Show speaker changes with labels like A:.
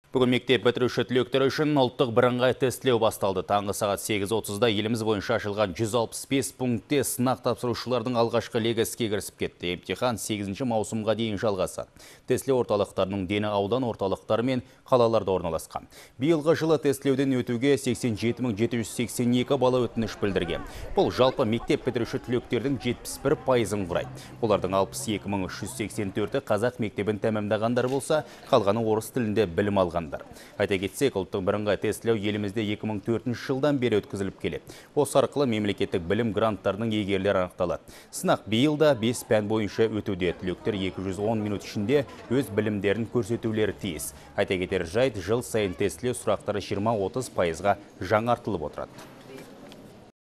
A: Бүгін мектеп бітіруші түлектер үшін ұлттық бірыңғай тестілеу басталды. Таңғы сағат 8:30-да еліміз бойынша ашылған 165 пунктте сынақ тапсырушылардың алғашқы легі іске кірісіп кетті. Емтихан 8 маусымға дейін жалғасады. Тестілеу орталықтарының дені аудан орталықтары мен қалаларда орналасқан. Биылғы жылы тестілеуден өтуге 87.782 бала өтініш білдірген. Бұл жалпы мектеп бітіруші түлектердің 71%-ын құрайды. Олардың 62.384-і қазақ мектебін тәмамдағандар болса, қалғаны орыс тілінде білім алған. Айта кетсек, ұлттық бірыңғай тестілеу елімізде 2004 жылдан бері өткізіліп келеді. Осы арқылы мемлекеттік білім гранттарының иегерлері анықталады. Сынақ биылда 5 пән бойынша өтуде. Түлектер 210 минут ішінде өз білімдерін көрсетулері тиіс. Айта кетер жайт, жыл сайын тестілеу сұрақтары 20-30%-ға жаңартылып отырады.